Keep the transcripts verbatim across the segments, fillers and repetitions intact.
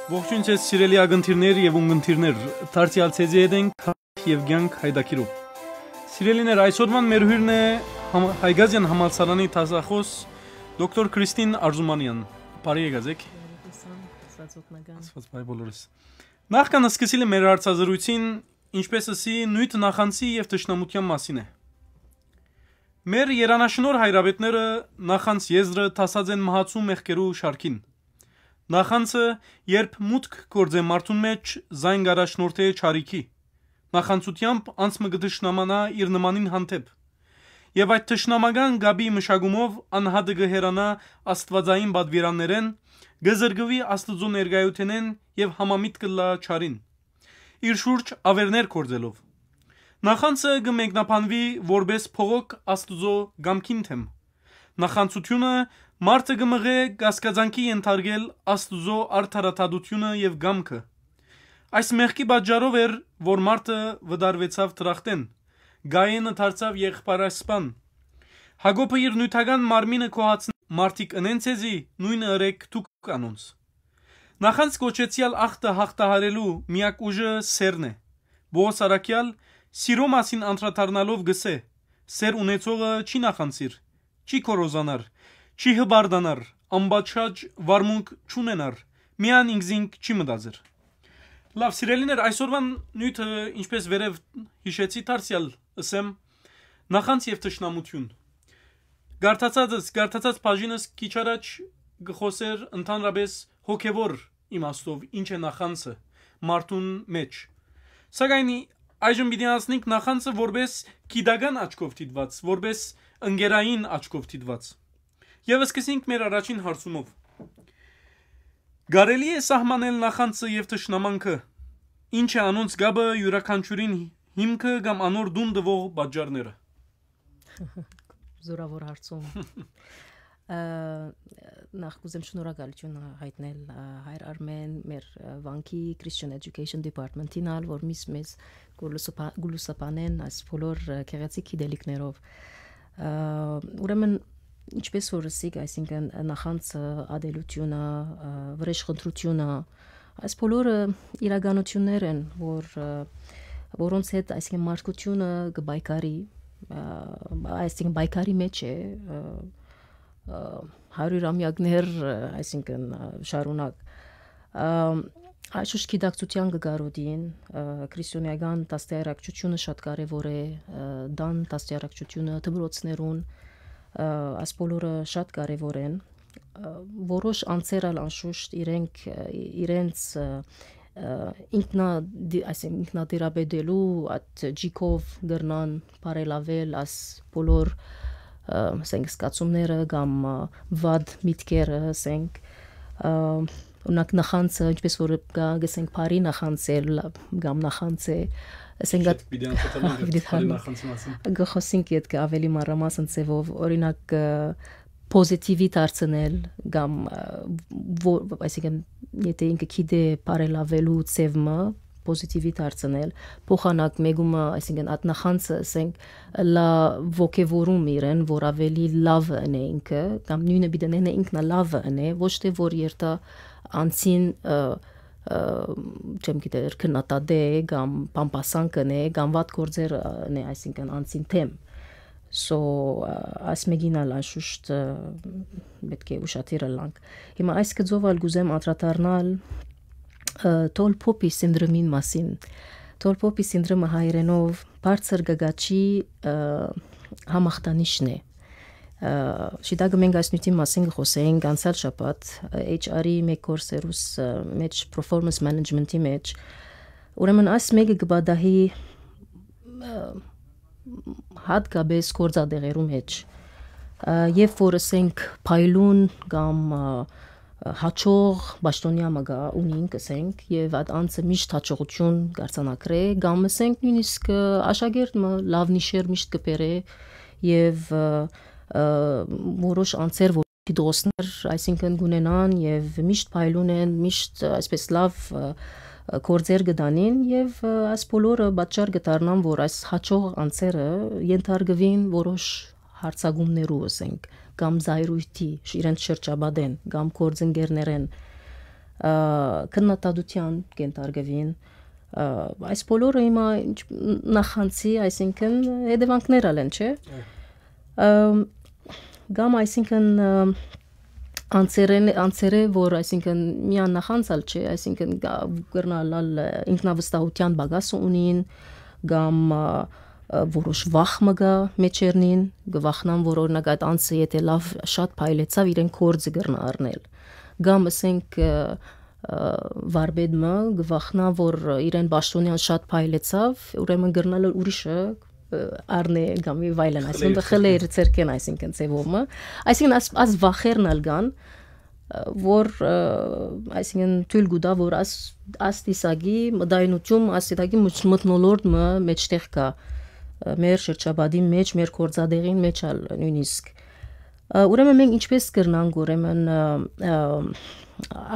Ողջույն ձեզ, սիրելի ակնթիրներ եւ ունկնդիրներ, դարձեալ ձեզի հետ ենք Թաղ եւ կյանք հայտագիրով։ Սիրելիներ, այսօրվան մեր հյուրն է համ-, Հայկազյան համալսարանի դասախոս դոկտոր Քրիստին Արզումանեան։ Բարի եկած եք։ Բարի եկան, Աստված օգնական։ Աստված բարի բոլորս։ Նախքան սկսիլը մեր հարցազրույցին, ինչպես ըսի, նիւթ նախանցի եւ թշնամութեան մասին է։ Մեր երանաշնոր հայրապետները նախանց եզրը դասած են մահացու մեղքերու շարքին։ Նախանցը, երբ մուտք գործէ մարդուն մէջ, զայն կ'առաջնորդէ չարիքի։ Նախանցութեամբ անձ մը կը թշնամանայ իր նմանին հանդէպ։ Եւ այդ թշնամական կապի մշակումով անհատը կը հեռանայ աստուածային պատուիրաններէն, կը զրկուի Աստուծոյ ներկայութենէն եւ համամիտ կ'ըլլայ չարին, իր շուրջ աւերներ գործելով։ Նախանցը կը մեկնաբանուի որպէս փողոք Աստուծոյ կամքին դէմ։ Նախանցութիւնը մարդը կը մղէ կասկածանքի ենթարկել Աստուծոյ արդարադատութիւնը եւ կամքը։ Այս մեղքի պատճառով էր, որ մարդը վտարուեցաւ դրախտէն, Կայէնը դարձաւ եղբայրասպան։ Յակոբը իր նիւթական մարմինը գոհացնէ, մարդիկ ընեն ձեզի, նոյնը ըրէք դուք անոնց։ Նախանց կոչեցեալ ախտը յաղթահարելու միակ ուժը սէրն է։ Պողոս առաքեալ սիրո մասին անդրադառնալով կ'ըսէ. «Սէր ունեցողը չի նախանցիր, չի քորոզանար, չի հպարտանար, անպատշաճ վարմունք չունենար, միայն ինքզինք չի մտածեր»։ Լաւ, սիրելիներ, այսօրվան նիւթը, ինչպես վերեւ յիշեցի, դարձեալ ըսեմ, նախանց եւ թշնամութիւն։ Կարդացածս, կարդացած բաժինս քիչ առաջ կը խօսէր ընդհանրապէս հոգեվոր իմաստով ինչ է նախանցը մարդուն մէջ։ Սակայն այժմ պիտի անցնենք նախանցը որպէս գիտական աչքով դիտուած, որպէս ընկերային աչքով դիտուած։ Եւ սկսենք մեր առաջին հարցումով։ Կարելի՞ է սահմանել նախանցը եւ թշնամանքը։ Ինչ է անոնց կապը, իւրաքանչիւրին հիմքը կամ անոր տուն տուող պատճառները։ Զորաւոր հարցում։ Ա, նախ կ'ուզեմ շնորհակալութիւն յայտնել, ա, հայր Արմէն, մեր, ա, վանքի Christian Education Department-ին ալ, որ միշտ մեզ կը լուսաբա-, կը լուսաբանեն այս բոլոր, ա, գեղեցիկ գիտելիքներով։ Ա, ուրեմն, ինչպես որ ըսիք, այսինքն, նախանցը, ատելութիւնը, ա, վրէժխնդրութիւնը, այս բոլորը իրականութիւններ են, որ, ա, որոնց հետ, այսինքն, մարդկութիւնը կը պայքարի, ա, այսինքն, պայքարի մէջ է, ա, ը, հարիւր ամեակներ, ը, այսինքն, ը, շարունակ։ Ը, անշուշտ գիտակցութեան կը կարօտին, ը, քրիստոնէական դաստիարակչութիւնը շատ կարեւոր է, ը, տան դաստիարակչութիւնը դպրոցներուն, ը, այս բոլորը շատ կարեւոր են։ Ը, որոշ անձեր ալ անշուշտ իրենք, ը, իրենց, ը, ը, ինքնա-, դի-, այսինքն ինքնատիրապետելու այդ ջիքով կրնան բարելավել այս բոլոր, ը, ասենք, զգացումները կամ, ը, վատ միտքերը, ասենք, ը, օրինակ, նախանցը, ինչպես որ կա, գսենք, բարի նախանց է, լավ, կամ նախանց է, ասենք, Չէ, այդ պիտի անդրադառնանք այդ պիտի բարի դառնանք։ Նախանցի մասին։ Կխոսենք ետքը ավելի մանրամասն ձևով, օրինակ, ը, պոզիտիվի դարձնել կամ, ը, ո-, այսինքն, եթե ինքը գիտէ բարելավելու ձև մը, պոզիտիվի դարձնել, փոխանակ մեկումը, այսինքն, այդ նախանցը, ասենք, լա ոգևորում իրեն, որ ավելի լավը ընէ ինքը, կամ նոյնը պիտի ընէ ինքնա լավը ընէ, ոչ թե որ երթա անցին, ը, ը, չեմ գիտեր, քննադատե կամ բամբասան կնե կամ վատ գործեր, ը, ընէ, այսինքն, անցին թեմ։ So, ը, այս մեկին ալ անշուշտ, ը, պէտք է ուշադիր ըլլանք։ Հիմա այս գծով ալ կուզեմ անդրադառնալ, ը, Tall Poppy սինդրոմին մասին։ Tall Poppy սինդրոմը հայերէնով բարձր գագաչի, ը, համախտանիշն է։ Ը, շիտակը մենք այս նիւթի մասին կը խօսենք անցյալ շաբաթ, ը, H R-ի մէկ կորսերուս, ը, մէջ, performance management-ի մէջ։ Ուրեմն այս մէկը կը պատահի, ը, հատկապես գործատեղերու մէջ, ը, երբ որ, ասենք, փայլուն կամ, ը, ը, հաճող պաշտօնեայ մը կայ, ունինք, ասենք, եւ այդ անձը միշտ հաճողութիւն կարձանագրէ, կամ, ասենք, նոյնիսկ, ը, աշակերտ մը լաւ նիշեր միշտ կը բերէ, եւ, ը, ը, որոշ անձեր, որ դպրոցներ, այսինքն, կունենան եւ միշտ փայլուն են, միշտ, ը, այսպես լաւ, ը, ը, գործեր կը տանին, եւ, ը, այս բոլորը պատճառ կը դառնան, որ այս հաճող անձերը ենթարկուին որոշ յարձակումներու, ասենք, կամ զայրույթի, շ-, իրենց շրջապատեն, կամ գործընկերներեն, ը, քննադատութեան կենթարկուին։ Ը, այս բոլորը հիմա ինչ, նախանցի, այսինքն, հետևանքներ ալ են, չէ՞։ Այո։ Ը, կամ, այսինքն, ը, անցերեն-, անցերը, որ, այսինքն, միան նախանց ալ չէ, այսինքն, գա-, կրնալ ալ, ը, ինքնավստահութեան պակաս ունին, կամ, ը, ը, որոշ վախ մը կա մեջերնին, կը վախնան, որ, օրինակ, այդ անձը, եթե լավ շատ փայլեցաւ, իրեն գործը կրնա առնել։ Կամ, ասենք, ը, ը, վարպետ մը կը վախնա, որ իրեն պաշտոնեան շատ փայլեցաւ, ուրեմն կրնալ ուրիշը, ը, առնէ կամ եւ այլն, այսինքն, խլեր, խլեր ձեռքեն, այսինքն, ձևով մը։ Այսինքն, աս, աս վախերն ալ կան, ը, որ, ը, այսինքն, թոյլ կու տայ, որ աս, աս տեսակի մտայնություն, աս տեսակի մթ-, մթնոլորտ մը մեջտեղ կայ, ը, մեր շրջապատին մէջ, մեր գործատեղին մէջ ալ նոյնիսկ։ Ը, ուրեմն մենք ինչպես կրնանք, ուրեմն, ը, ը,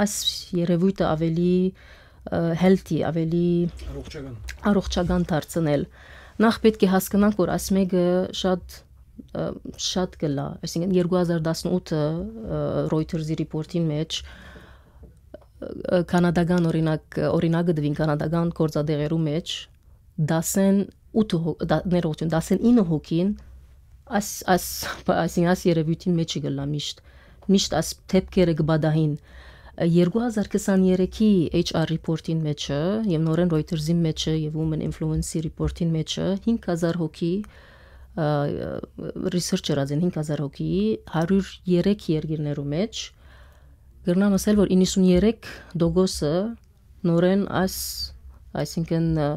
աս երևոյթը ավելի, ը, healthy, ավելի առողջական, առողջական դարձնել։ Նախ պէտք է հասկնանք, որ աս մէկը շատ, ը, շատ կլա, այսինքն, երկու հազար տասնութը, ը, Reuters-ի report-ին մէջ, ը, կանադական օրինակ, օրինակը տուին կանադական գործատեղերու մէջ, տասնութ հո-, դա-, ներողություն, տասնինը հոգին, աս, աս, այսինքն, աս երևույթին մէջ կլա միշտ, միշտ աս դէպքերը կը պատահին։ Ը, երկու հազար քսաներեքի H R report-ին մէջը եւ նորէն Reuters-ին մէջը եւ Women Influence-ի report-ին մէջը հինգ հազար հոգի, ը, research ըրած են հինգ հազար հոգի, հարիւր երեք երկիրներու մէջ, կրնամ ասել, որ իննսուններեք տոկոսը նորէն այս, այսինքն, ը,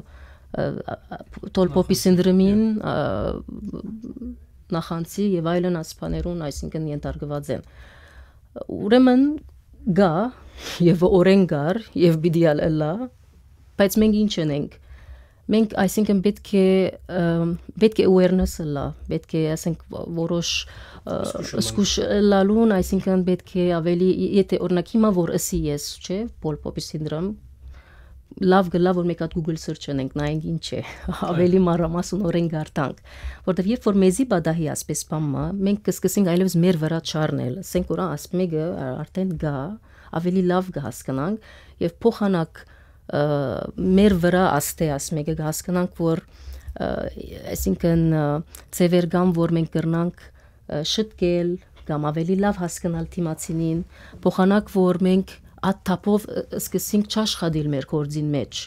ը, ը, թոյլ փոփի նախանցի, սինդրոմին, ը, նախանցի եւ այլն ասպաներուն, այսինքն, ենթարկուած են։ Ուրեմն կայ եւ օրէն կար եւ պիտի ալ ըլլայ, բայց մենք ինչ ընենք։ Մենք, այսինքն, պէտք է, ը, պէտք է awareness ըլլայ, պէտք է, ասենք, որոշ, ը, զգուշ ըլլալ։ Զգուշ ըլլալուն, այսինքն, պէտք է ավելի, եթե, օրինակ, հիմա որ ըսի ես, չէ, թոյլ փոփի սինդրոմ, լաւ կլա, որ մէկ հատ Google search ընենք, նայենք ինչ է, ավելի մանրամասն օրէն կարդանք, որտեւ երբ որ մեզի պատահի ասպէս բան մը, մենք կսկսենք այլեւս մեր վրայ չառնել, ասենք, որ աս մէկը արդեն կայ, ավելի լաւ կը հասկնանք եւ փոխանակ, ը, մեր վրայ աստէ աս մէկը կը հասկնանք, որ, ը, այսինքն, ը, ձեւեր կան, որ մենք կրնանք, ը, շտկել կամ ավելի լաւ հասկնալ դիմացինին, փոխանակ, որ մենք այդ թափով, ը, սկսենք չաշխատիլ մեր գործին մէջ։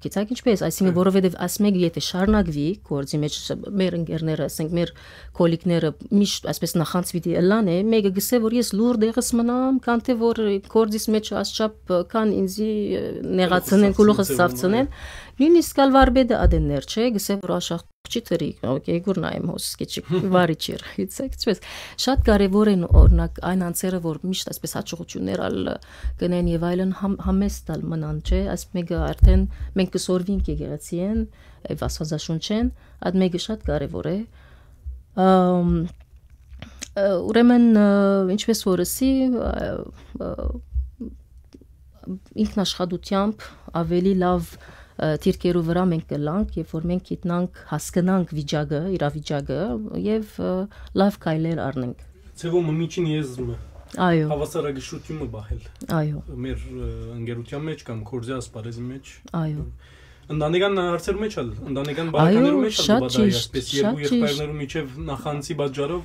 Գիտակ ինչպես, այսինքն, որովհետեւ աս մէկը եթե շարունակուի գործի մէջ, ս-, մեր ընկերները, ասենք, մեր քոլիկները միշտ այսպես նախանց պիտի ըլլան է, մէկը գսե, որ ես լուր դեղս մնամ, քան թե որ գործիս մէջ ասչափ, ը, քան ինձի, ը, նեղացնեն, գլուխս գլուխս ցաυցնեն, ցաυցնեն։ Նույնիսկ ալ վարպետը ադեններ չէ, գսե, որ աշախ չի թրի, օքեյ, գուրնայեմ հոս, քիչիկ վարի չիր, գիտեք, ինչպես։ Շատ կարևոր են, օրինակ, այն անձերը, որ միշտ այսպես հաջողություններ ալ կնեն եւ այլն, համ-, համեստ ալ մնան, չէ՞, այս մէկը արդեն մենք կսորվինք եկեղեցի են, եւ Աստվածաշունչեն, այդ մէկը շատ կարևոր է։ Ամ, ը, ուրեմն, ը, ինչպես որ ըսի, ը, ը, ինքնաշխատությամբ ավելի լավ, ը, դիրքերու վրայ մենք կլանք, երբ որ մենք գիտնանք, հասկնանք վիճակը, իրավիճակը եւ, ը, լավ քայլեր առնենք։ Ձեւով մը միջին եզրը։ Այո։ Հավասարակշռությունը պահել։ Այո։ Մեր, ը, ընկերության մեջ կամ գործի ասպարեզի մեջ։ Այո։ Ընտանեկան հարցերու մեջ ալ, ընտանեկան Այո, պարագաներու մեջ ալ շատ կը պատահի ճիշտ, այսպես երկու շատ ճիշտ։ Եղբայրներու միջև նախանցի պատճառով,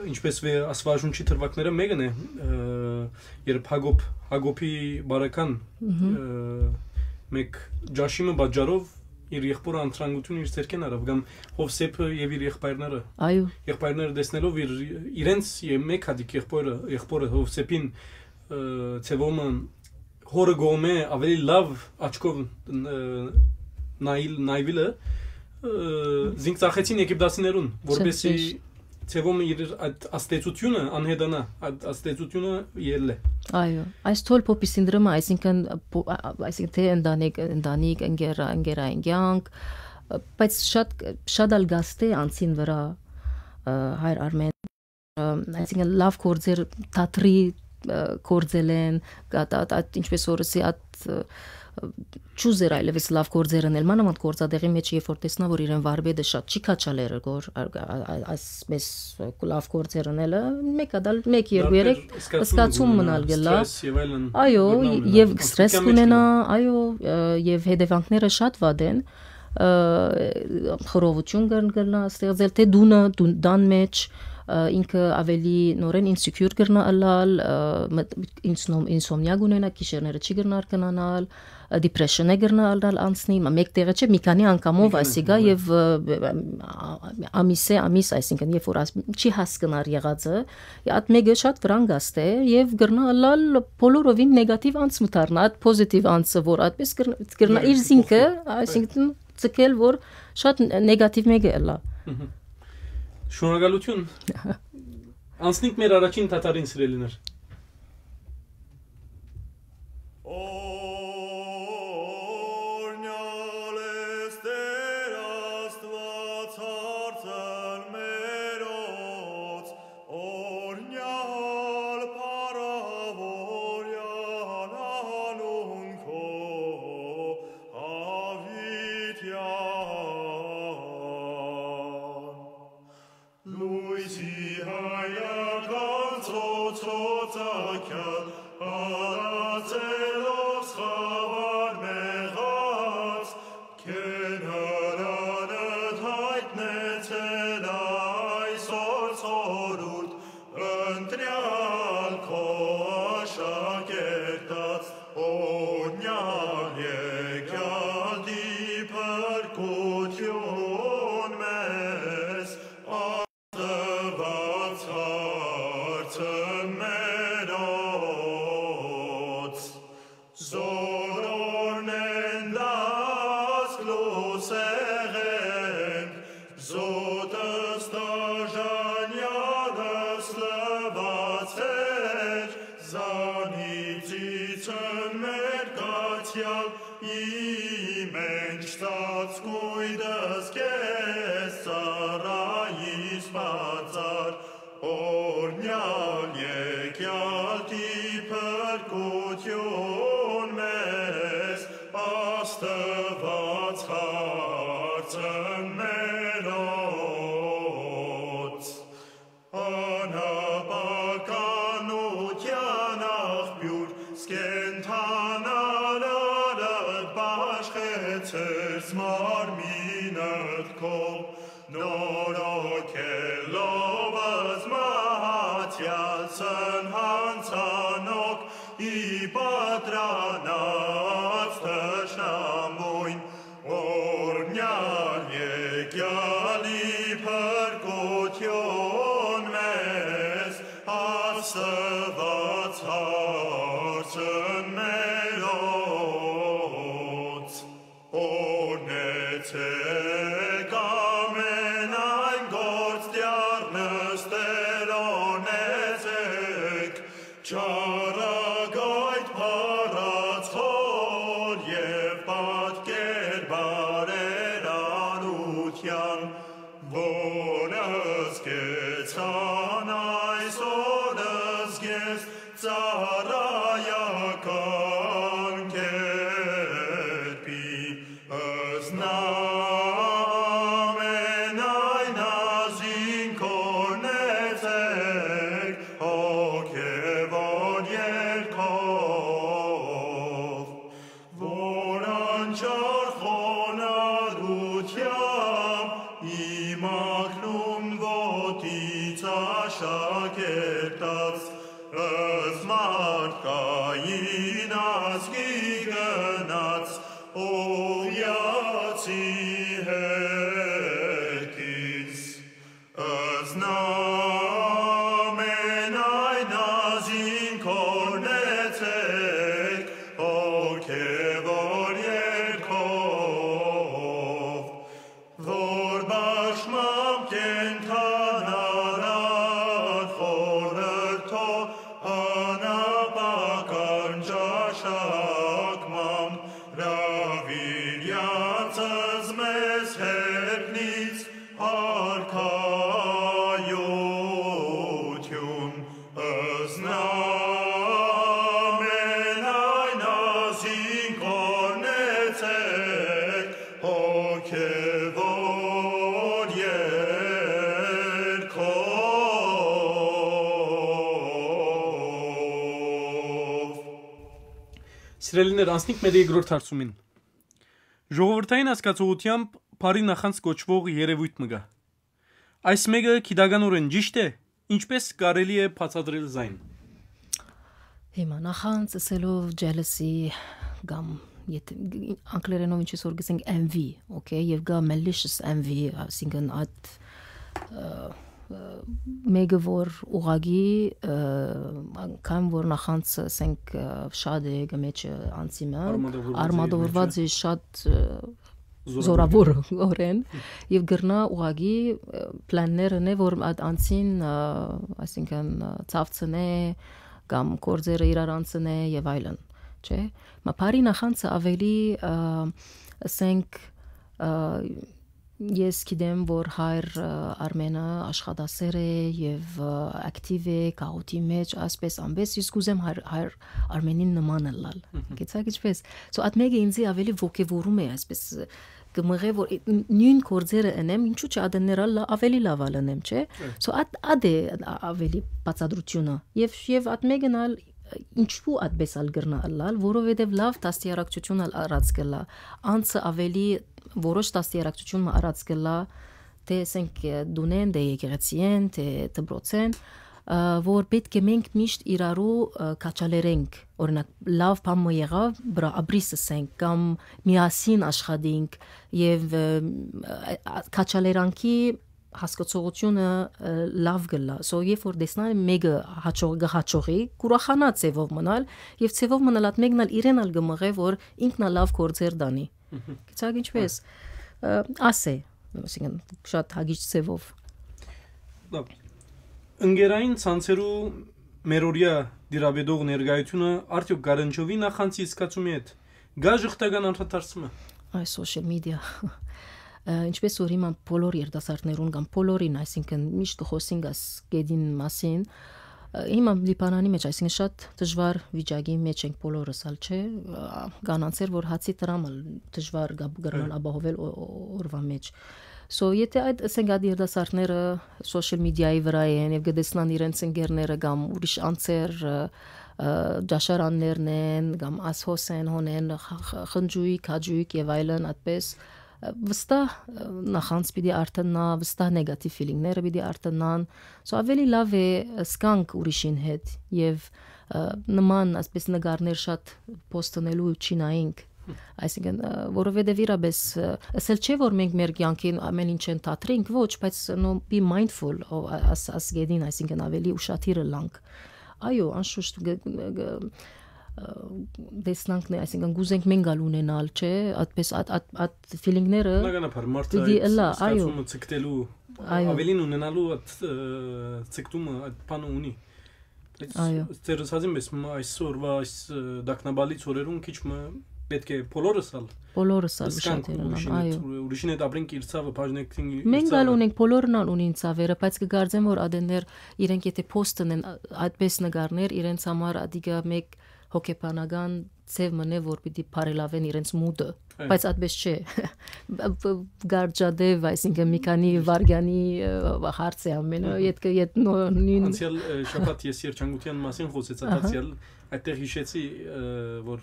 ինչպես վե-, Աստվածաշունչի թրվակները մեկն է, ը, երբ Հակոբ, Հակոբի բարական, Մհմ։ ը, մեկ ճաշի մը պատճառով իր եղբորը անտրանքություն իր ձեռքեն առավ, կամ Հովսեփը եւ իր եղբայրները։ Այո։ Եղբայրները տեսնելով իր, իրենց եւ մեկ հատիկ եղբորը, եղբորը Հովսեփին, ը, ձևումը հորը կողմէ ավելի լավ աչքով, ը, նայիլ-, նայվիլը, ը, զինք ծախեցին եգիպտացիներուն, որպեսզի Շատ ճիշտ։ Ձևումը իր այդ աստեցությունը անհետանա, այդ աստեցությունը ելլե։ Այո, այս թոյլ փոփի սինդրոմը, այսինքն, փո-, ա-, ա-, այսինքն, թե ընտանիք, ընտանիք, ընկերա-, ընկերային կյանք, ը, բայց շատ, շատ ալ գաստէ անցին վրայ, ը, հայր Արմեն, ը, այսինքն, լավ գործեր թատրի ը, գործել են, կա-, ա-, ա-, ինչպես որ ասի, ատ, ը, չուզեր այլևս լաւ գործեր ընել, մանավանդ գործատեղի մեջ, երբ որ տեսնայ, որ իրեն վարպետը շատ չի քաջալեր, որ ա-, ա-, ա-, այսպես լաւ գործեր ընելը, մէկ ատալ, մեկ, երկու, երեք, զգացում մնալ կլա։ Ստրես եւ այլն։ Այո, կրնայ ունենալ, եւ ստրես անցկացության մեջ կունենայ, կլա։ Այո, ը, եւ հետեւանքները շատ վատ են, ը, խռովութիւն կր-, կրնայ ստեղծել, թէ դունը, դուն-, տան մեջ, ը, ինքը ավելի նորէն ինսիքիուր կրնայ ըլլալ, ը, մտ-, ինսնոմ-, ինսոմնիա կունենայ, գիշերները չի կրնար քնանալ, ը, դիպրեշնը կրնայ ըլլալ անցնի, մա մէկ տեղը չէ, մի քանի անգամով, մի քանի այսինքն, անգամ, եւ, ը, ը, ա-, ամիսէ ամիս, այսինքն, երբ որ աս-, չի հասկնար եղածը, ատ մէկը շատ վրան գաստէ եւ կրնայ ըլլալ բոլորովին նեգատիվ անձ մը դառնայ, ատ պոզիտիվ անձը, որ այդպես կրնայ, կրնայ իր զինքը, այսինքն, ձգել, որ շատ ն-, նեգատիվ մէկը ըլլայ։ Մհմ։ Շնորհակալություն։ Անցնենք մեր առաջին թաթարին, սիրելիներ։ Օրհնյալ ես Տեր Աստուած հարցն մերոց, օրհնյալ փառաւորեալ անուն քո յաւիտեան։ Լոյսի հայական ծոցոց ակյալ, հալածելով սխաւար մեղած, քեն հրանդ յայտնեցել այսօր խորհուրդ, ընտրեալ քո աշակերտաց, օրհնեալ եկեալ դիպրկութիւն մեզ, Աստուած հարցն մերոց։ Զօրորնէն լաց լուսեղէն, զօտս տաժանեալս լուացեր, զանիծիցն մեր կացեալ ի մէջ ծածկոյտս քեզ ծառայիս բացար, օրհնեալ եկեալ դիպրկութիւն մեզ, Աստուած հարցն մերոց։ Անապականութեան աղբիւր, կենդանանալդ բաշխեցես մարմինդ քով, նորոգելով զմահացեալցն յանցանօք ի պատրանած թշնամոյն, օրհնեալ եկեալի փրկութիւն մեզ, Աստուած հարցն մերոց։ Օրհնեցեք ամենայն գործ դիառնս Տէրոնեցեք, չարագայթ փառաց խոր եւ պատկեր բարերարութեան, որ զգեցան այսօր զգես ծառայական կերպի, Ըզնամենայն ազին կորնեցեք հոգեւոր երկով, որ անչափ խոնարհությամբ իմակլուն ոտից աշակերտած, ըստ մարդկային ազգի գնաց, ուղղացի հեքիս։ Ըզնամենայն ազին կորնեցեք հոգեւոր երկով, որ բաշխմամբ կենդանանար խորհրդով, անապական ճաշակմամբ հրաւիրեալցս մեզ հեռնից արքայութիւն, ըզնա Սիրելիներ, անցնենք մեր երկրորդ հարցումին։ Ժողովրդային հասկացողութեամբ բարի նախանձ կոչուող երևույթ մը կա։ Այս մէկը գիտականօրէն ճիշդ է, ինչպէս կարելի է բացատրել զայն։ Հիմա նախանձ ըսելով jealousy կամ, եթե անգլերենով ինչպես որ գսենք, envy, okay, եւ կա malicious envy, այսինքն այդ, ը, ը, մէկը որ ուղագի, ը, անգամ որ նախանձ, ասենք, ը, շատ է, կը մեջը անցի մը, Արմատավորված է արմատավորված է շատ, ը, զորաւոր օրեն, եւ կրնայ ուղագի, ը, պլաններ ընէ, որ այդ անցին, ը, այսինքն, ը, ցավցնէ կամ գործերը իրար անցնէ եւ այլն, չէ՞։ Մա բարի նախանձը ավելի, ը, ասենք, ը, ես գիտեմ, որ հայր, ը, Արմենը աշխատասեր է եւ, ը, ակտիվ է գաղութի մեջ, ասպէս ամպէս, իսկ կ'ուզեմ հայր, հայր Արմենին նման ըլլալ։ Մհմ։ Գիտեք ինչպես։ So, այդ մէկը ինձի ավելի ոգեւորում է, այսպես, կը մղէ, որ նոյն գործերը ընեմ, ինչու՞ չէ ադեններ ալ լա-, ավելի լաւ ալ ընեմ, չէ՞։ Հը։ So, այդ, այդ է ա-, ավելի բացատրությունը։ Եւ, եւ այդ մէկն ալ, ինչու այդպես ալ կրնայ ըլլալ, որովհետեւ լաւ դաստիարակչություն ալ առած կլա։ Անցը ավելի, որոշ դաստիարակչություն մը առած կլա, թե, ասենք, դունեն, թե եկեղեցիեն, թե դպրոցեն, ը, որ պէտք է մենք միշտ իրարու, ը, քաջալերենք։ Օրինակ, լաւ բան մը եղաւ, բրա ապրիս, ասենք, կամ միասին աշխատենք եւ, ը, ա-, ա-, քաջալերանքի հասկացողությունը, ը, լաւ կլա։ So, երբ որ տեսնան մէկը հաջող-, կը հաջողի, կուրախանա ձևով մնալ, եւ ձևով մնալ այդ մեկն ալ իրեն ալ կը մղէ, որ ինքն ալ լաւ գործեր տանի։ Մհմ։ Գիտեք ինչպես, ը, ասէ, այսինքն, շատ հագիչ ձևով։ Լավ։ Ընկերային ցանցերու մերօրյա դիրապետող ներկայությունը արդյոք գարանչովի նախանձի զգացումի հետ։ Գա ժխտական անդրադարձումը։ Այս social media։ Ը, ինչպես որ հիմա բոլոր երիտասարդներուն կամ բոլորին, այսինքն, միշտ կխոսենք այս գետին մասին, ը, հիմա Լիբանանի մեջ, այսինքն, շատ դժվար վիճակի մեջ ենք բոլորս ալ, չէ՞։ Ը, կան անձեր, որ հացի դրամ ալ դժվար կա-, կրնան Հը։ Ապահովել օ-, օ-, օրվա մեջ։ So, եթե այդ, ասենք, այդ երիտասարդները social media-ի վրա են եւ կտեսնան իրենց ընկերները կամ ուրիշ անձեր, ը, ը, ճաշարաններն են կամ ասհոս են, հոն են, խ-, խ-, խնջույք, հաճույք եւ այլն, այդպես, ը, վստահ, ը, նախանձ պիտի արթննայ, վստահ negative feeling-ները պիտի արթննան։ So, ավելի լաւ է, ը, զգանք ուրիշին հետ եւ, ը, նման, այսպես, նկարներ շատ post-ընելու չի նայենք։ Այսինքն, ը, որովհետեւ իրապես, ը, ասել չէ, որ մենք մեր կյանքին ամեն ինչ են թատրենք, ոչ, բայց, no, be mindful of, ա-, աս-, աս գետին, այսինքն, ավելի ուշադիր ըլանք։ Այո, անշուշտ, գ-, գ-, ը, տեսնանքն է, այսինքն, կուզենք մենք ալ ունենալ, չէ, այդպես, այդ, այդ, այդ feeling-ները Բնականաբար, մարդը պիտի այդ ըլլա, այո։ Զգացումը ցկտելու, Այո։ Ավելին ունենալու այդ, ը, ցկտումը, այդ բանը ունի։ Բայց Այո։ Ձեր ասածին պես, մ-, այսօրվա այս, ը, տագնապալից օրերուն քիչ մը պէտք է բոլորս ալ Բոլորս ալ զգանք ուշադիր ըլանք, ուրիշին հետ, այո։ Ուրիշին հետ ապրենք իր ցաւը, բաժնենք իր Մենք ալ ցաւը։ Ունենք, բոլորն ալ ունին ցավերը, բայց կգարձեմ, որ ադեններ իրենք եթե post-ն են, ա-, այդպես նկարներ, իրենց համար ադիգա մեկ հոգեբանական ձև մնե, որ պիտի բարելավեն իրենց մուտը, Այո։ Բայց այդպես չէ։ Բ-, բ-, գարջադեւ, այսինքն, մի քանի վարգյանի, ը, հարց է ամենը, Մհմ։ Ետքը, ետ նո-, նույն Անցյալ, ը, շաբաթ ես երջանկության մասին խոսեցա, Ահա։ Դարձյալ այդտեղ հիշեցի, ը, որ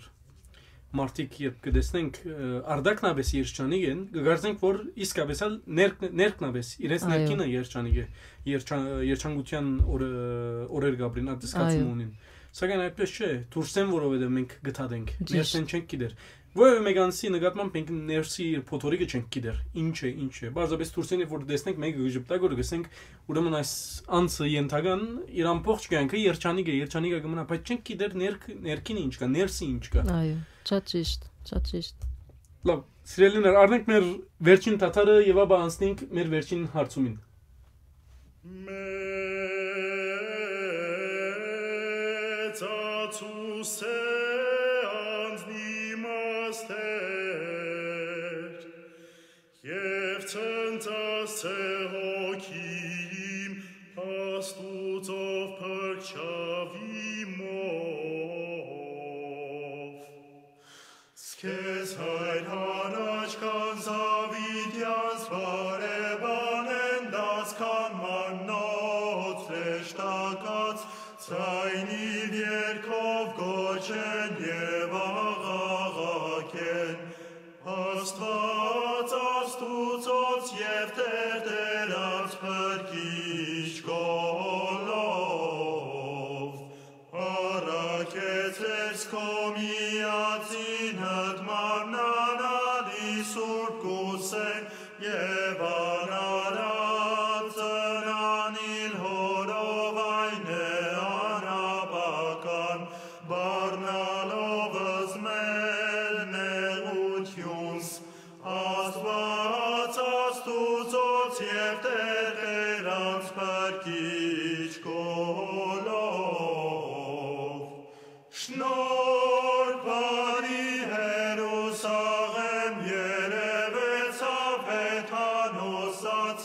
մարդիկ, երբ կտեսնենք, ը, արդակնաբես երջանիկ են, կգարձենք, որ իսկապես ալ ներք-, ներքնաբես, իրենց Այո։ Ներքինը երջանիկ է, երջա-, երջանկության օրը, օրեր կապրին, այդ զգացումը Այո։ Ունին։ Սակայն այդպես չէ, դուրս են, որովհետև մենք գթադենք, Ճիշտ։ Ներսեն չենք գիտեր։ Որևէ մեկ անձի նկատմամբ մենք ներսի իր փոթորիկը չենք գիտեր, ինչ է, ինչ է։ Պարզապես դուրս են, որ տեսնենք, մեկը կժպտա, որ գսենք, ուրեմն այս անձը ենթական իր ամբողջ կյանքը երջանիկ է, երջանիկ է կմնա, բայց չենք գիտեր ներք-, ներքինը ինչ կա, ներսը ինչ կա։ Այո, շատ ճիշտ, շատ ճիշտ։ Լավ, սիրելիներ, առնենք մեր վերջին թաթարը և ապա անցնենք մեր վերջին հարցումին։ Մեծացուս է անձնի մաստեր, և ցնծաս է հոգիմ Աստուծով փրկչավի մով։ Սքեզ հայր առաջ կան Զաւիթեանց բարեբանեն դաս քան մաննոց հեշտակած, ցայնիվ երկով կոչեն և Քո միածինդ մարմնանալի սուրբ կուսեն եւ անարատ ծնանիլ հորով այն է անապական, բառնալով զմել նեղութիւնս, Աստուած Աստուծոց եւ Տէր Տէրանց փրկիչ քոլով։ Շնորհ բարի Հերուսաղեմ երեւեցաւ հեթանոսաց,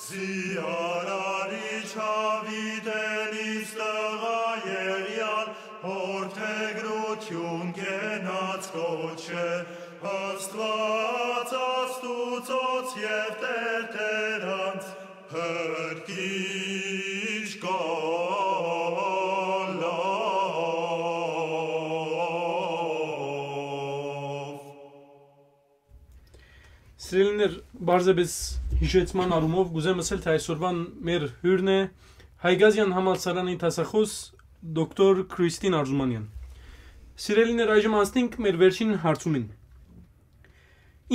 զիարարիչ Դաւիթէն իսկ տղայ Եղիան, որդեգրութիւն կենաց կոչէ, Աստուած Աստուծոց եւ Տէր Տէրանց, փրկիչ քոլով։ Սիրելիներ, պարզապէս յիշեցման առումով կ'ուզեմ ըսել, թէ այսօրուան մեր հիւրն է Հայկազեան համալսարանի դասախօս դոկտոր Քրիստին Արզումանեան։ Սիրելիներ, այժմ անցնենք մեր վերջին հարցումին։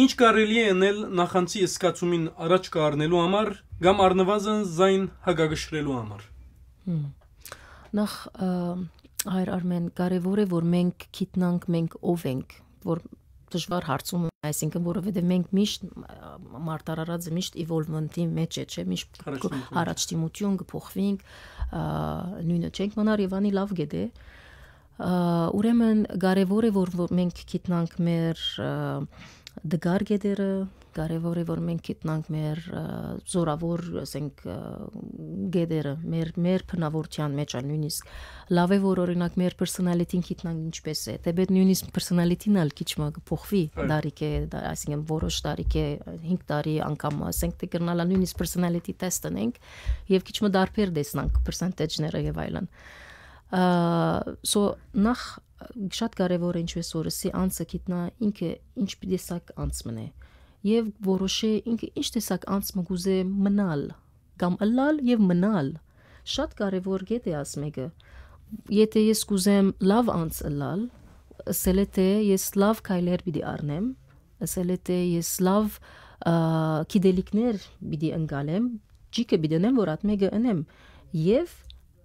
Ի՞նչ կարելի է ընել նախանցի զգացումին առաջ կը առնելու համար կամ առնուազն զայն հակակշռելու համար։ Հմ։ Նախ, ը, հայր Արմեն, կարեւոր է, որ մենք գիտնանք, մենք ով ենք, որ դժուար հարցում է, այսինքն, որովհետեւ մենք միշտ, ը, մարդ արարածը միշտ evolvement-ի մեջ է, չէ՞, միշտ Առաջադիմություն։ առաջադիմություն կը փոխվինք, ը, նույնը չենք մնար եւ անի լաւ գետե։ Ա, ուրեմն կարեւոր է, որ, որ մենք գիտնանք մեր, ա, դգար գետերը, կարեւոր է, որ մենք գիտնանք մեր, ա, զորավոր, ասենք, ա, գետերը, մեր, մեր բնավորության մեջ ալ նույնիսկ։ Լաւ է, որ, օրինակ, մեր personality-ն գիտնանք ինչպես է, թէպէտ նույնիսկ personality-ն ալ քիչ մը կը փոխուի Այո։ Տարիքէ, դա, այսինքն, որոշ տարիքէ, հինգ տարի անգամ, ասենք, թէ կրնալա նույնիսկ personality test ընենք, եւ քիչ մը դարբեր տեսնանք percentage-ները եւ այլն։ Ա, so, նախ շատ կարեւոր է, ինչպես որ ըսի, անձը գիտնայ ինքը ինչ տեսակ անձ մըն է, եւ որոշէ ինքը ինչ տեսակ անձ մը կ'ուզէ մնալ, կամ ըլլալ եւ մնալ։ Շատ կարեւոր կետ է աս մէկը։ Եթէ ես կ'ուզեմ լաւ անձ ըլլալ, ըսել է թէ ես լաւ քայլեր պիտի առնեմ, ըսել է թէ ես լաւ, ա, գիտելիքներ պիտի ընկալեմ, ճիգը պիտի ընեմ, որ ատ մէկը ընեմ, եւ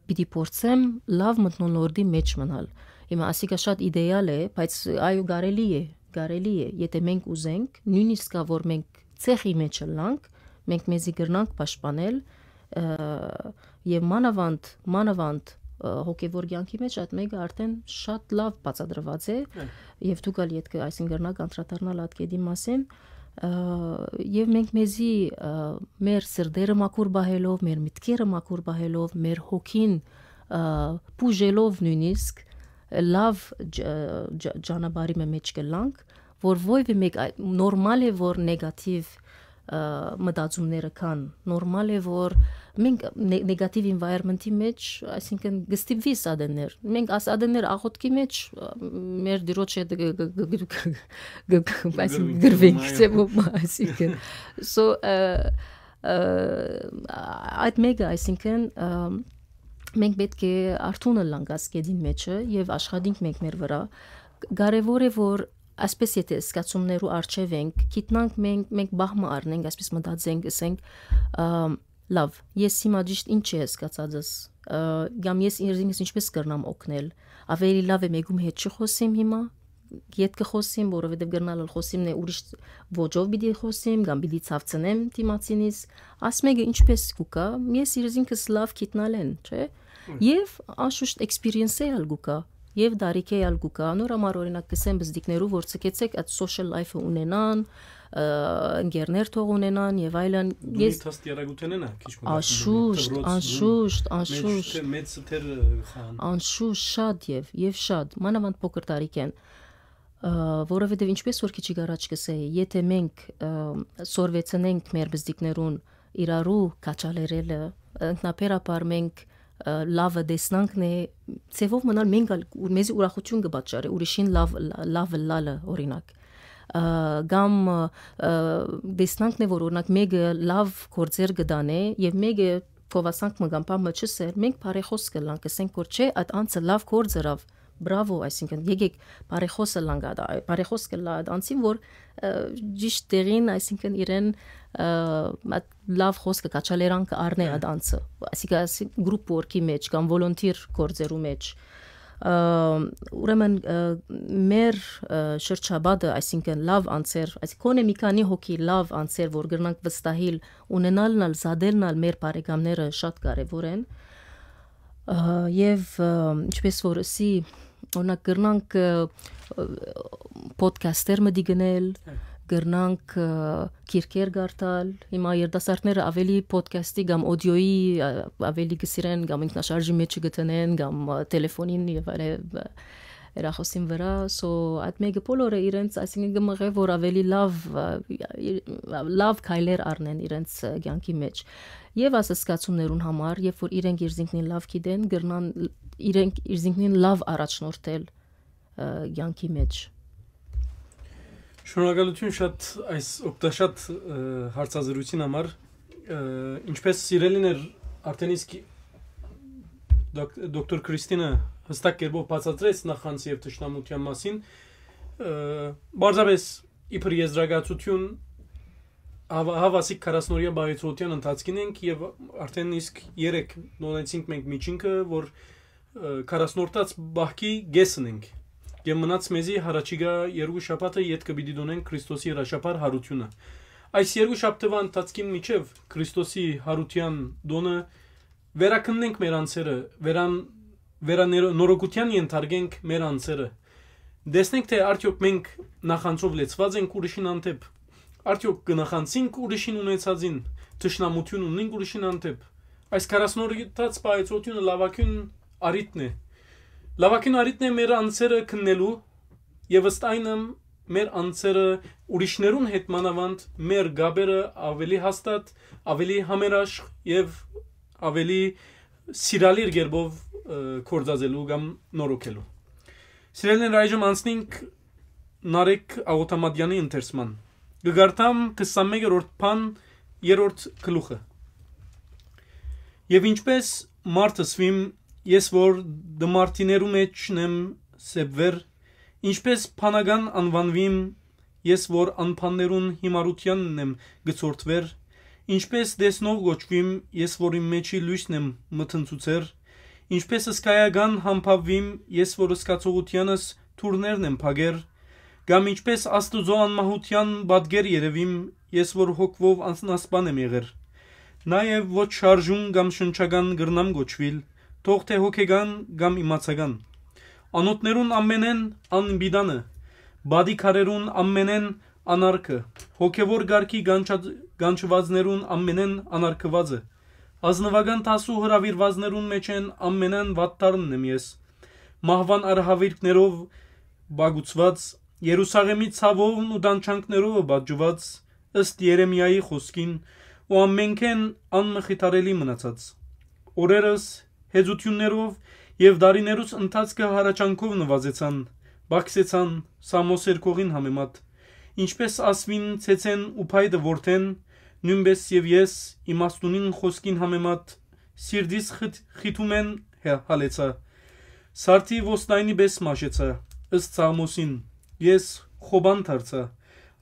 պիտի փորձեմ լաւ մթնոլորտի մեջ մնալ։ Հիմա ասիկա շատ իդեալ է, բայց այո, կարելի է, կարելի է, եթէ մենք ուզենք, նույնիսկ ա, որ մենք ցեխի մեջ ըլլանք, մենք մեզի կրնանք պաշտպանել, ը, եւ մանաւանդ, մանաւանդ, ը, հոգեվոր կյանքի մեջ այդ մէկը արդեն շատ լաւ բացատրուած է, Այո։ Եւ դուք ալ ետքը այսինքն կրնաք անդրադառնալ այդ կետի մասին, ը, եւ մենք մեզի, ը, մեր սրտերը մաքուր պահելով, մեր մտքերը մաքուր պահելով, մեր հոգին, ը, բուժելով նույնիսկ, լաւ ջ-, ջ-, ճանապարհի մը մեջ կլանք, որ ոյ մէկ այ-, նորմալ է, որ նեգատիվ, ը, մտածումները կան, նորմալ է, որ մենք նե-, նեգատիվ environment-ի մեջ, այսինքն, կստիպվի սադեններ։ Մենք աս ադեններ աղոթքի մեջ, ը, մեր դիրոջ հետ գ-, գ-, գ-, գ-, գ-, գ-, այսինքն, Գրվենք, գրվենք, Մայա։ Չէ՞, ո-, այսինքն, so, ը, ը, այդ մեկը, այսինքն, ը, մենք պետք է արթուն ըլլանք աս կետին մեջը եւ աշխատենք մենք մեր վրա։ Կարեւոր է, որ այսպես եթե զգացումներու առջեւ ենք, գիտնանք մենք, մենք բահ մը առնենք, այսպես մտածենք, ասենք, ը, լավ, ես հիմա ճիշտ ինչ է զգացածս, ը, կամ ես ինքս ինչպես կրնամ օգնել, ավելի լավ է մեկում հետ չխոսեմ հիմա, ետ կը խոսեմ, որովհետեւ կրնալ ալ խոսիմ նե ուրիշ ոճով պիտի խոսեմ, կամ պիտի ցավցնեմ դիմացինիս, աս մեկը ինչպես կուկա, ես ինքս լաւ գիտնալեն, չէ՞։ Հմ։ Եվ անշուշտ experience-ը ալ կուկա, եւ դարիքը ալ կուկա, նոր համար օրինակ կսեմ բզդիկներու, որ ցկեցեք այդ social life-ը ունենան, ը, ընկերներ թող ունենան եւ այլն, Դու ես դաստիարակութենն ա, քիչ մը Անշուշտ, դասում, դպրոց, անշուշտ, դու անշուշտ։ Մեծ թեր, մեծ թեր, ը, խան։ Անշուշտ շատ եւ, եւ շատ, մանավանդ փոքր տարիքեն, ը, որովհետեւ ինչպես որ քիչ առաջ կսեի, եթե մենք, ը, սորվեցնենք մեր բզդիկներուն իրարու քաչալերելը, ինքնաբերաբար մենք, ը, լավը տեսնանքն է, ձևով մնալ մենք ալ, ու-, մեզի ուրախություն կը պատճառի, ուրիշին լավ, լա-, լավ լալը, օրինակ։ Ը, կամ, ը, տեսնանքն է, որ օրինակ մեկը լավ գործեր կը դանե եւ մեկը կովասանք մը կամ բան մը չսեր, մենք բարեխոս կլանք, կսենք, որ չէ, այդ անձը լավ գործ ըրավ, Բրավո, այսինքն, եկեք բարեխոս ըլլանք այդ, բարեխոս կ'ըլլայ այդ անձին, որ, ը, ճիշտ տեղին, այսինքն, իրեն, ը, այդ լաւ խօսքը, քաջալերանքը առնէ այդ անձը, այսինքն, այսինքն, group work-ի մեջ կամ volunteer գործերու մեջ։ Ը, ուրեմն, ը, մեր, ը, շրջապատը, այսինքն, լաւ անձեր, այսինքն, գոնե մի քանի հոգի լաւ անձեր, որ կրնանք վստահիլ, ունենալն ալ, զատելն ալ մեր բարեկամները շատ կարեւոր են։ Ը, եւ, ը, ինչպես որ ըսի, օրինակ, կրնանք, ը, ը, podcast-եր մտի գնել, կրնանք, ը, գիրքեր կարդալ։ Հիմա երիտասարդները ավելի podcast-ի կամ audio-ի, ը, ավելի կը սիրեն, կամ ինքնաշարժի մեջ կը դնեն, կամ, ը, տելեֆոնին եւ այլն, ը, հեռախօսին վրա։ So, այդ մէկը բոլորը իրենց, այսինքն, կը մղէ, որ ավելի լաւ, ը, լաւ քայլեր առնեն իրենց, ը, կյանքի մեջ։ Եւ այս զգացումներուն համար, երբ որ իրենք իրզինքնին լաւ գիտեն, կրնան իրենք իրզինքնին լաւ առաջնորդել, ը, կյանքի մեջ։ Շնորհակալություն շատ այս օգտաշատ, ը, հարցազրույցին համար։ Ը, ինչպես սիրելին էր արդեն իսկ դոկ-, դոկտոր Քրիստինը հստակ կերպով բացատրեց նախանձ եւ թշնամության մասին, ը, պարզապէս իբր եզրակացութիւն, հաვა-, հաւասիկ քառասնօրեայ պահեցողութեան ընթացքին ենք եւ արդեն իսկ երեկ նոնեցինք մենք միջինքը, որ, ը, քառասնորդաց պահքի կէսն ենք եւ մնաց մեզի յառաջիկայ երկու շաբաթը ետքը պիտի դոնենք Քրիստոսի հրաշափառ յարութիւնը։ Այս երկու շաբթուայ ընթացքին միջեւ Քրիստոսի յարութեան տոնը վերակննենք մեր անձերը, վերան-, վերանորոգութեան ենթարկենք մեր անձերը։ Տեսնենք, թէ արդեօք մենք նախանձով լեցված ենք ուրիշին հանդէպ, արդեօք կը նախանձինք ուրիշին ունեցածին, թշնամութիւն ունենք ուրիշին հանդէպ։ Այս քառասնօրեայ պահեցողութիւնը լաւագոյն առիթն է։ Լաւագոյն առիթն է մեր անձերը քննելու եւ ըստ այնմ մեր անձերը ուրիշներուն հետ մանաւանդ մեր գաբերը ավելի հաստատ, ավելի համերաշխ եւ ավելի սիրալիր կերպով, ը, գործածելու կամ նորոգելու։ Սիրելիներ, այժմ անցնենք Նարեկ Աղոթամատեանի ընթերցման։ Կը կարդամ քսանմեկերորդ բան, երրորդ գլուխը։ Եւ ինչպես մարդ ըսուիմ, ես որ դմարդիներու մեջն եմ սեպվեր, ինչպես փանական անուանուիմ, ես որ անփաններուն հիմարութեանն եմ գցորդվեր, ինչպես տեսնող կոչուիմ, ես որ իմ մեջի լոյսն եմ մթնցուցեր, ինչպես սկայական համբաւուիմ, ես որ սկացողութեանս թուրներն եմ փակեր, կամ ինչպես Աստուծոյ անմահութեան պատկեր երեւիմ, ես որ հոգվով անսնասպան եմ եղեր։ Նաեւ ոչ շարժուն կամ շնչական կրնամ կոչուիլ, թող թէ հոգեկան կամ իմացական։ Անոթներուն ամենէն անպիտանը, բադի քարերուն ամենէն անարգը, հոգեվոր կարգի կանչած-, կանչուածներուն ամենէն անարգուածը, ազնուական դասու հրաւիրուածներուն մէջէն ամենէն վատթարն եմ ես։ Մահուան արհաւիրքներով բաղուցուած, Երուսաղէմի ցաւովն ու տանջանքներովը պատժուած, ըստ Երեմիայի խօսքին, ու ամենքէն անմխիթարելի մնացած։ Օրերս հեզութիւններով եւ դարիներուս ընթացքը հառաչանքով նուազեցան, բակսեցան Սամոսեր կողին համեմատ, ինչպես ասուին ցեցեն ու փայտը որդեն, նոյնպէս եւ ես իմաստունին խօսքին համեմատ սիրտիս խիթ-, խիթում են հե-, հալեցա։ Սարդի ոստայնի պէս մաշեցա, ըստ Սաղմոսին, ես խոբան դարձա,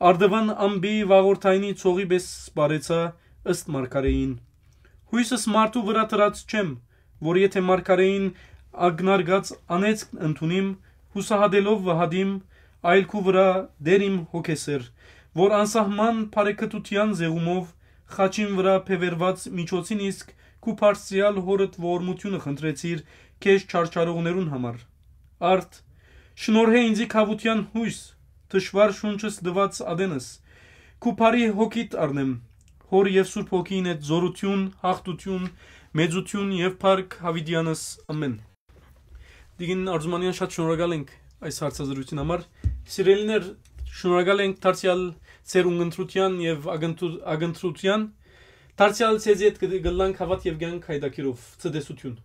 արդուան ամպի վաղորդայնի ցողի պէս սպարեցա, ըստ մարգարէին։ Յոյսս մարդու վրայ դրած չեմ, որ եթէ մարգարէին ակնարկած անեծք ընդունիմ, յուսահատելով վհատիմ, այլ քու վրայ դեր իմ հոգեսեր, որ անսահման բարեկտության զեղումով խաչին վրայ բեւեռված միջոցին իսկ քու բարձրեալ հորդ ողորմութիւնը խնդրեցիր քեզ չարչարողներուն համար։ Արդ, շնորհէ ինձի քաւութեան յոյս, թշուառ շունչս տուած ատենս, քու բարի հոգիդ առնեմ, հոր եւ Սուրբ Հոգին հետ զօրութիւն, յաղթութիւն, մեծութիւն եւ փառք յաւիտեանս, ամէն։ Տիկին Արզումանեան, շատ շնորհակալ ենք այս հարցազրույցին համար։ Սիրելիներ, շնորհակալ ենք դարձեալ ձեր ունգընտրութեան եւ ակնթու-, ակնթրութեան։ Դարձեալ ձեզի հետ կը-, կ'ըլլանք Հաւատ եւ Կեանք յայտագիրով, ցտեսություն։